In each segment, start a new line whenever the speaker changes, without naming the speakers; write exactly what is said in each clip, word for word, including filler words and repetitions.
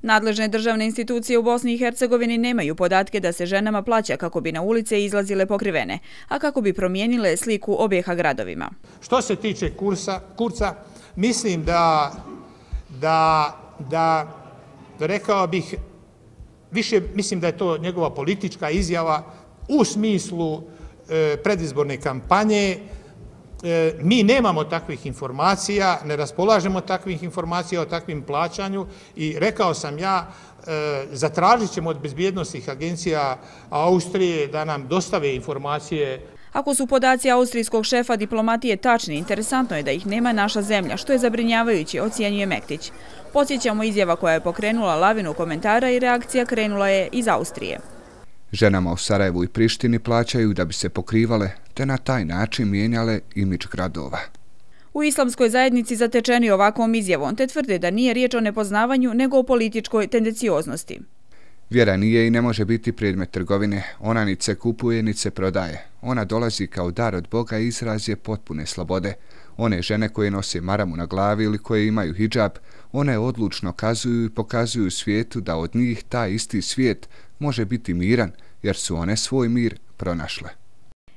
Nadležne državne institucije u Bosni i Hercegovini nemaju podatke da se ženama plaća kako bi na ulice izlazile pokrivene, a kako bi promijenile sliku objeha gradovima.
Što se tiče kursa, Kurca, mislim da, da, da rekao bih, više mislim da je to njegova politička izjava u smislu e, predizborne kampanje. E, mi nemamo takvih informacija, ne raspolažemo takvih informacija o takvim plaćanju i rekao sam ja, e, zatražit ćemo od bezbjednosnih agencija Austrije da nam dostave informacije.
Ako su podaci austrijskog šefa diplomatije tačni, interesantno je da ih nema naša zemlja, što je zabrinjavajuće, ocjenjuje Mektić. Podsjećamo, izjava koja je pokrenula lavinu komentara i reakcija krenula je iz Austrije.
Ženama u Sarajevu i Prištini plaćaju da bi se pokrivale, te na taj način mijenjale imidž gradova.
U islamskoj zajednici zatečeni ovakvom izjavom, te tvrde da nije riječ o nepoznavanju, nego o političkoj tendencioznosti.
Vjera nije i ne može biti predmet trgovine. Ona nit se kupuje, nit se prodaje. Ona dolazi kao dar od Boga i izraz je potpune slobode. One žene koje nose maramu na glavi ili koje imaju hidžab, one odlučno kazuju i pokazuju svijetu da od njih taj isti svijet može biti miran, jer su one svoj mir pronašle.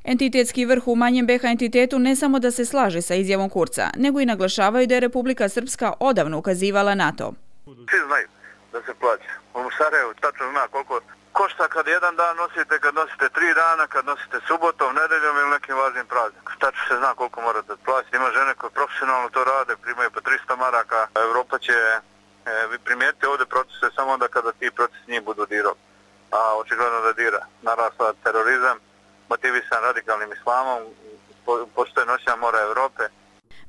Entitetski vrh u manjem be ha entitetu ne samo da se slaže sa izjavom Kurca, nego i naglašavaju da je Republika Srpska odavno ukazivala na to.
Svi znaju da se plaća. U Sarajevu tačno zna koliko košta kad jedan dan nosite, kad nosite tri dana, kad nosite subotom, nedeljom ili nekim važnim praznikom. Tačno se zna koliko morate platiti. Ima žene koje profesionalno to rade, primaju po tristo maraka. Evropa će e, vi primijetiti ovdje procese samo onda kada ti procesi njih budu dirali. A očigledno da dira. Narasla terorizam, motivisan radikalnim islamom, postoje noćna mora Evrope.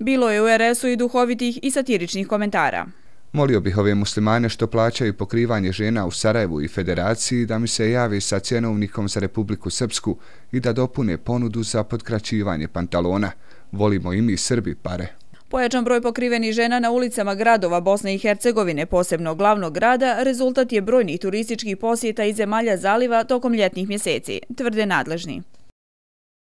Bilo je u er es u i duhovitih i satiričnih komentara.
Molio bih ove muslimane što plaćaju pokrivanje žena u Sarajevu i Federaciji da mi se javi sa cjenovnikom za Republiku Srpsku i da dopune ponudu za potkraćivanje pantalona. Volimo i mi Srbi pare.
Pojačan broj pokrivenih žena na ulicama gradova Bosne i Hercegovine, posebno glavnog grada, rezultat je brojnih turističkih posjeta iz zemalja zaliva tokom ljetnih mjeseci, tvrde nadležni.